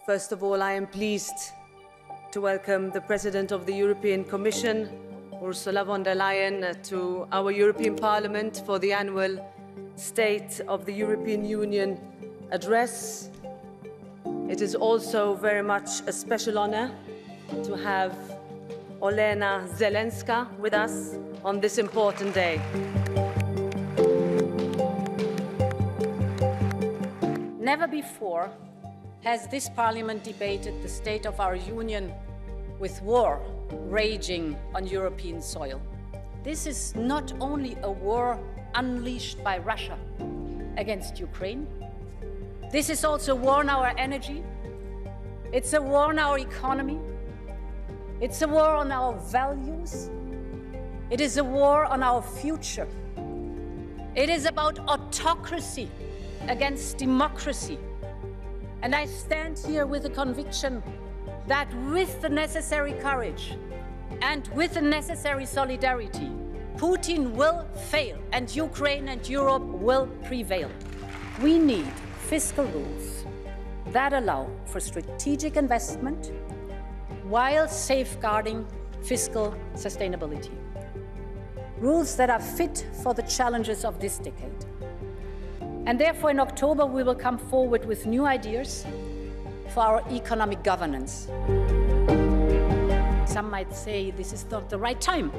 First of all, I am pleased to welcome the President of the European Commission, Ursula von der Leyen, to our European Parliament for the annual State of the European Union address. It is also very much a special honor to have Olena Zelenska with us on this important day. Never before has this parliament debated the state of our union with war raging on European soil. This is not only a war unleashed by Russia against Ukraine, this is also a war on our energy, it's a war on our economy, it's a war on our values, it is a war on our future. It is about autocracy against democracy. And I stand here with the conviction that with the necessary courage and with the necessary solidarity, Putin will fail and Ukraine and Europe will prevail. We need fiscal rules that allow for strategic investment while safeguarding fiscal sustainability. Rules that are fit for the challenges of this decade. And therefore, in October, we will come forward with new ideas for our economic governance. Some might say this is not the right time.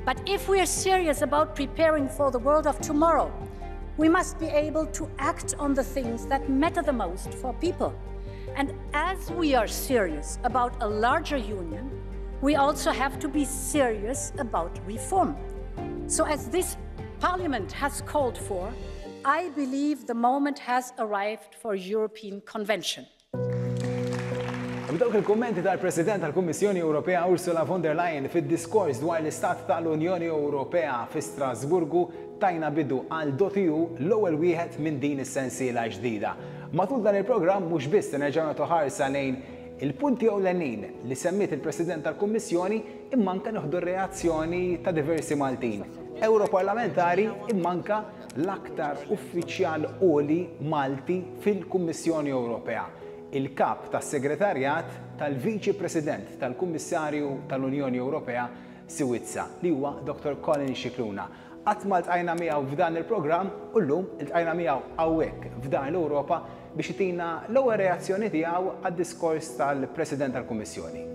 But if we are serious about preparing for the world of tomorrow, we must be able to act on the things that matter the most for people. And as we are serious about a larger union, we also have to be serious about reform. So as this parliament has called for, I believe the moment has arrived for European Convention. B'dawk il-kummenti tal-President tal-Kummissjoni Ewropea Ursula von der Leyen fid-diskors dwar l-Istat tal-Unjoni Ewropea fi Strasburgu tajna bidu għal Dot.eu l-ewwel wieħed minn din is-sensiela ġdida. Matul dan il-programm mhux biss se nerġgħu nagħtu ħarsa lejn il-punti ewlenin li semmiet il-President tal-Kummissjoni imma anke nieħdu r-reazzjoni ta' diversi Maltin, Ewroparlamentari imma anke l-aktar uffiċjal għoli Malti fil-Kummissjoni Ewropea, il-Kap tas-Segretarjat tal-Viċi President tal-Kummissarju tal-Unjoni Ewropea Siwizza, li huwa Dottor Colin Scicluna. Qatt ma ltqajna miegħu f'dan il-programm u llum iltqajna miegħu hawnhekk f'Dar l-Ewropa biex itina l-ewwel reazzjoni tiegħu għad-diskors tal-President tal-Kummissjoni.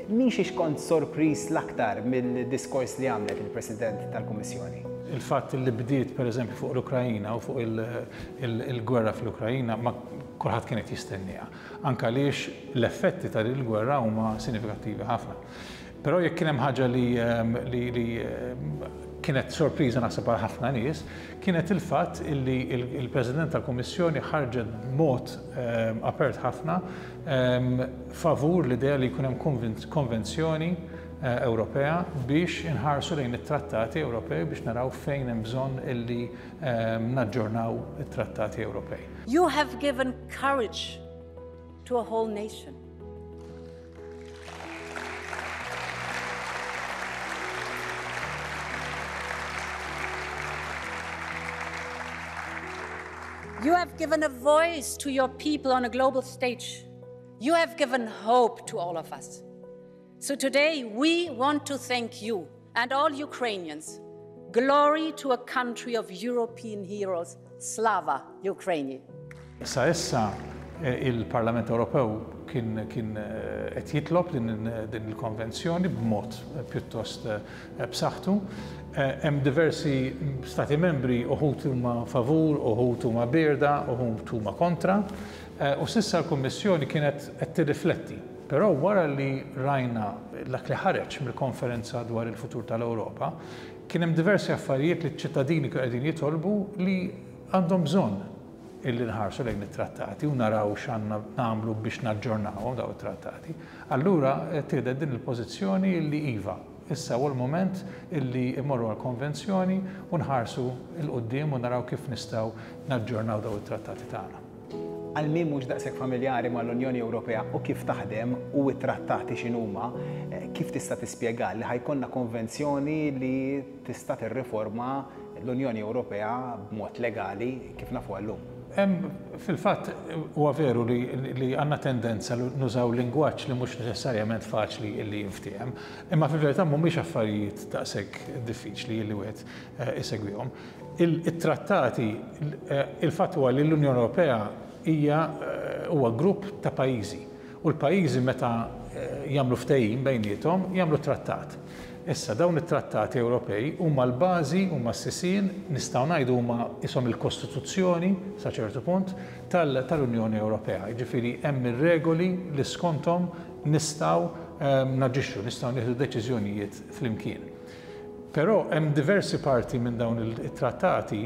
Minn xiex kont sorpriż l-aktar mill-diskors li għamlet il-President tal-Kummissjoni? Il-fatt li bdiet pereżempju fuq l-Ukraina u fuq il-gwerra fl-Ukraina ma kulħadd kien qed jistennieha. Anke għaliex l-effetti ta' din il-gwerra huma sinifikattivi ħafna. Però jekk kien hemm ħaġa li li kienet sorpriża naħseb għal ħafna nies, kienet il-fatt illi l-President tal-Kummissjoni ħarġet b'mod apert ħafna favur l-idea li jkun hemm konvenzjoni Ewropea biex inħarsu lejn it-trattati Ewropej biex naraw fejn hemm bżonn illi naġġornaw it-trattati Ewropej. You have given courage to a whole nation. You have given a voice to your people on a global stage. You have given hope to all of us. So today we want to thank you and all Ukrainians. Glory to a country of European heroes. Slava Ukraini. Sa issa il-Parlament Ewropew kien kien qed jitlob din din il-konvenzjoni b'mod pjuttost b'saħħtu. Hemm diversi stati membri uħud huma favur, uħud huma bierda, uħud huma kontra. U s'issa l-Kummissjoni kienet qed tirrifletti. Però wara li rajna dak li ħareġ mill-konferenza dwar il-futur tal-Ewropa, kien hemm diversi affarijiet li ċ-ċittadini kienu qegħdin jitolbu li għandhom bżonn illi nħarsu lejn it-trattati u naraw x'għandna nagħmlu biex naġġornawhom dawn it-trattati. Allura ttieħdet din il-pożizzjoni illi iva, issa huwa l-mument illi mmorru għall-konvenzjoni u nħarsu 'l quddiem u naraw kif nistgħu naġġornaw dawn it-trattati tagħna. Għal min mhux daqshekk familjari mal-Unjoni Ewropea u kif taħdem u t-trattati x'inhuma, kif tista' tispjega li ħa jkollna konvenzjoni li tista' tirriforma l-Unjoni Ewropea b'mod legali kif nafuha llum? Hemm fil-fatt huwa veru li li għandna tendenza li nużaw lingwaġġ li mhux neċessarjament faċli li jinftiehem, imma fil-verità mhumiex affarijiet daqshekk diffiċli li wieħed isegwihom. It-trattati, il-fatt huwa li l-Unjoni Ewropea hija huwa grupp ta' pajjiżi u l-pajjiżi meta jagħmlu ftehim bejniethom jagħmlu trattat. Issa, dawn it-trattati Ewropej huma l-bażi, huma s-sisien, nistgħu ngħidu huma qishom il-kostituzzjoni, sa ċertu punt, tal-Unjoni Ewropea. Jiġifieri hemm ir-regoli li skonthom nistgħu naġixxu, nistgħu nieħdu deċiżjonijiet flimkien. Però hemm diversi parti minn dawn it-trattati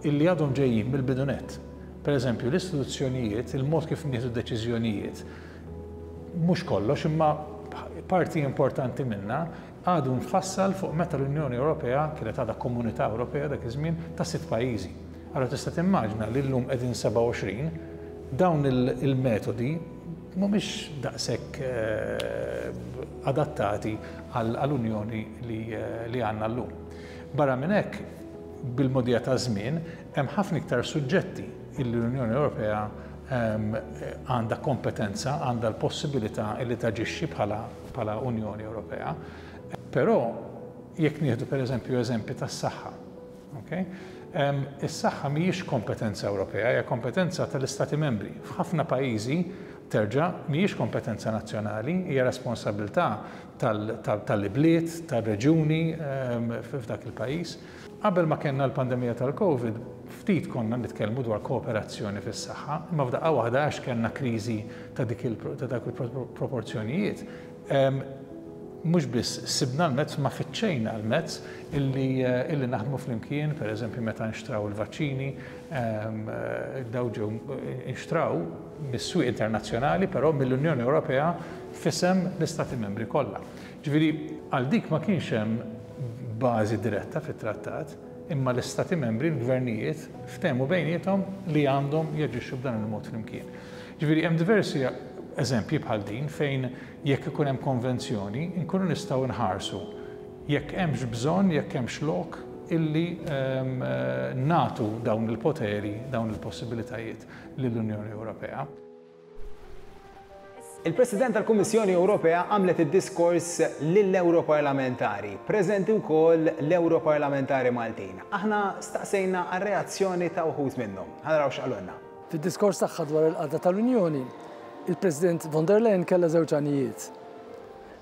illi għadhom ġejjin mill-bidu nett. Per eżempju, l-istituzzjonijiet, il-mod kif nieħdu deċiżjonijiet, mhux kollox imma parti importanti minnha għadu mfassal fuq meta l-Unjoni Ewropea kienet għadha Komunità Ewropea dak iż-żmien ta' sitt pajjiżi. Allura tista' timmaġna li llum qegħdin 27, dawn il-metodi mhumiex daqshekk adattati għall-Unjoni li għandna llum. Barra minn hekk, bil-mogħdija taż-żmien hemm ħafna iktar suġġetti illi l-Unjoni Ewropea għandha kompetenza, għandha l-possibilità li taġixxi bħala bħala Unjoni Ewropea. Però jekk nieħdu pereżempju eżempji tas-saħħa, okay? Is-saħħa mhijiex kompetenza Ewropea, hija kompetenza tal-Istati Membri. F'ħafna pajjiżi terġa' mhijiex kompetenza nazzjonali, hija responsabilità tal-ibliet, tar-reġjuni f'dak il-pajjiż. Qabel ma kellna l-pandemija tal-Covid, ftit konna nitkellmu dwar kooperazzjoni fis-saħħa, imma f'daqqa waħda għax kellna kriżi ta' dik ta' dawk il-proporzjonijiet, mhux biss sibna l-mezz ma fittxejna l-mezz illi illi naħdmu flimkien, per eżempju meta nxtraw il-vaċċini, daw ġew inxtraw mis-swieq internazzjonali, però mill-Unjoni Ewropea f'isem l-Istati Membri kollha. Ġifieri għal dik ma kienx hemm bażi diretta fit-trattat, imma l-Istati Membri, l-gvernijiet, ftehmu bejniethom li għandhom jaġixxu b'dan il-mod flimkien. Ġifieri hemm diversi eżempji bħal din fejn jekk ikun hemm konvenzjoni nkunu nistgħu nħarsu jekk hemmx bżonn, jekk hemmx lok illi nagħtu dawn il-poteri, dawn il-possibilitajiet lill-Unjoni Ewropea. Il-President tal-Kummissjoni Ewropea għamlet id-diskors lill-Ewroparlamentari, preżenti wkoll l-Ewroparlamentari Maltin. Aħna staqsejna għar-reazzjoni ta' wħud minnhom. Ħa naraw x'qalulna. Fid-diskors tagħha dwar il-qagħda tal-Unjoni, il-President von der Leyen kellha żewġ għanijiet.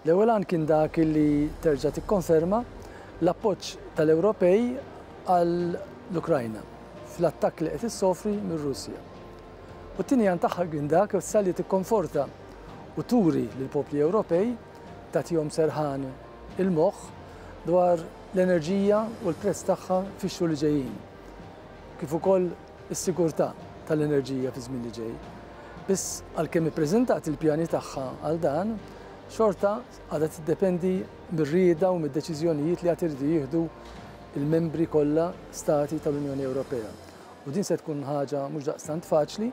L-ewwel għan kien dak li terġa' tikkonferma l-appoġġ tal-Ewropej għall-Ukrajna fl-attakk li qed issofri mir-Russja. U t-tieni għan tagħha kien dak issa li tikkonforta u turi lill-popli Ewropej, tagħtihom serħan il-moħħ dwar l-enerġija u l-prezz tagħha fix-xhur li ġejjin, kif ukoll is-sigurtà tal-enerġija fiż-żmien li ġej. Biss għalkemm ippreżentat il-pjani tagħha għal dan, xorta għadha tiddependi mir-rieda u mid-deċiżjonijiet li għad iridu jieħdu l-membri kollha stati tal-Unjoni Ewropea. U din se tkun ħaġa mhux daqstant faċli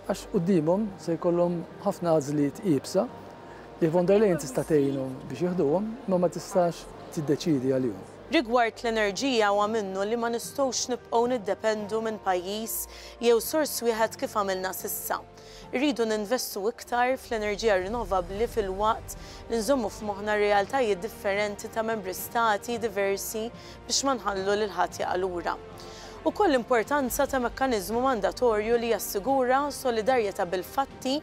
għax quddiemhom se jkollhom ħafna għażliet iebsa li von der Leyen tista' tgħinhom biex jieħduhom imma ma tistax tiddeċiedi għalihom. Rigward l-enerġija huwa minnu li ma nistgħux nibqgħu niddependu minn pajjiż jew sors wieħed kif għamilna s'issa. Irridu ninvestu iktar fl-enerġija rinnovabbli filwaqt li nżommu f'moħħna r-realtajiet differenti ta' membri stati diversi biex ma nħallu lil ħadd jaqa' lura. Ukoll l-importanza ta' mekkaniżmu mandatorju li jassigura solidarjetà bil-fatti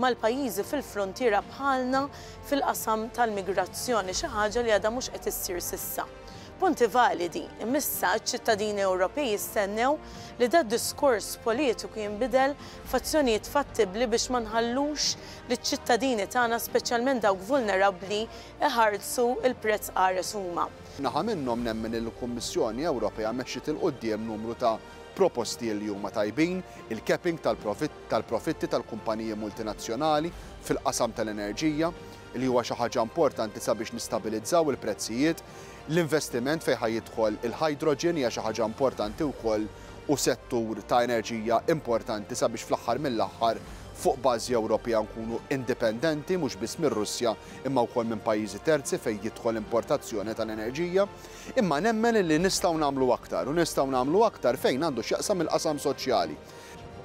mal-pajjiżi fil-fruntiera bħalna fil-qasam tal-migrazzjoni, xi ħaġa li għadha mhux qed issir s'issa. Punti validi, imma issa ċ-ċittadini Ewropej jistennew li dad-diskors politiku jinbidel f'azzjonijiet fattibbli biex ma nħallux liċ-ċittadini tagħna, speċjalment dawk vulnerabbli, iħarsu l-prezz qares huma. Naħa minnhom nemmen li l-Kummissjoni Ewropea mexxiet 'il quddiem numru ta' proposti li huma tajbin, il-capping tal-profitti tal-kumpaniji multinazzjonali fil-qasam tal-enerġija, li huwa xi ħaġa importanti sabiex nistabilizzaw il-prezzijiet, l-investiment fejn ħa jidħol il-hydrogen hija xi ħaġa importanti wkoll u settur ta' enerġija importanti sabiex fl-aħħar mill-aħħar fuq bażi Ewropea nkunu indipendenti mhux biss mir-Russja imma wkoll minn pajjiżi terzi fejn jidħol importazzjoni tal-enerġija. Imma nemmen li nistgħu nagħmlu aktar u nistgħu nagħmlu aktar fejn għandu x'jaqsam il-qasam soċjali.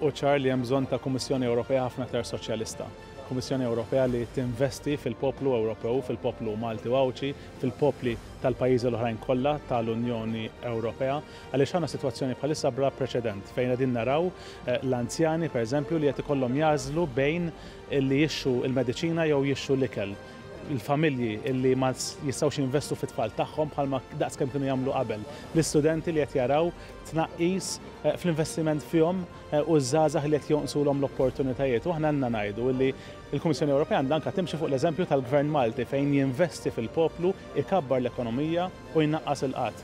Hu ċar li hemm bżonn ta' Kummissjoni Ewropea ħafna aktar soċjalista. Kummissjoni Ewropea li tinvesti fil-poplu Ewropew, fil-poplu Malti u Għawdxi, fil-popli tal-pajjiżi l-oħrajn kollha tal-Unjoni Ewropea. Għaliex għandna sitwazzjoni bħalissa bla preċedent fejn qegħdin naraw l-anzjani pereżempju li qed ikollhom jagħżlu bejn li jixtru l-mediċina jew jixtru l-ikel. Il-familji li ma jistgħux jinvestu fit-tfal tagħhom bħalma daqskemm kienu jagħmlu qabel. L-istudenti li qed jaraw tnaqqis fl-investiment fihom u ż-żgħażagħ li qed jonqsulhom l-opportunitajiet. U aħna għandna ngħidu li l-Kummissjoni Ewropea għandha anke timxi fuq l-eżempju tal-Gvern Malti fejn jinvesti fil-poplu, ikabbar l-ekonomija u jnaqqas il-qgħad.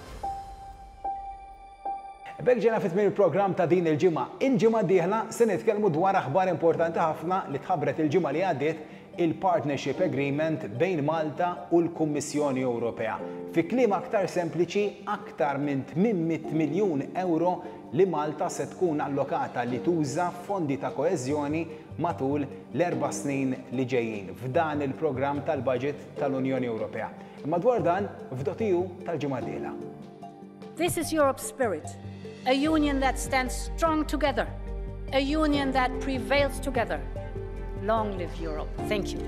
B'hekk ġejna fi tmiem il-programm ta' din il-ġimgħa. Il-ġimgħa d-dieħla se nitkellmu dwar aħbar importanti ħafna li tħabbret il-ġimgħa li għaddiet, il-Partnership Agreement bejn Malta u l-Kummissjoni Ewropea. Fi kliem aktar sempliċi, aktar minn 800 miljun ewro li Malta se tkun allokata li tuża fondi ta' koeżjoni matul l-erba' snin li ġejjin f'dan il-programm tal-baġit tal-Unjoni Ewropea. Imma dwar dan f'Dot.eu tal-ġimgħa d-dieħla. This is Europe's spirit, a union that stands strong together, a union that prevails together. Long live Europe. Thank you.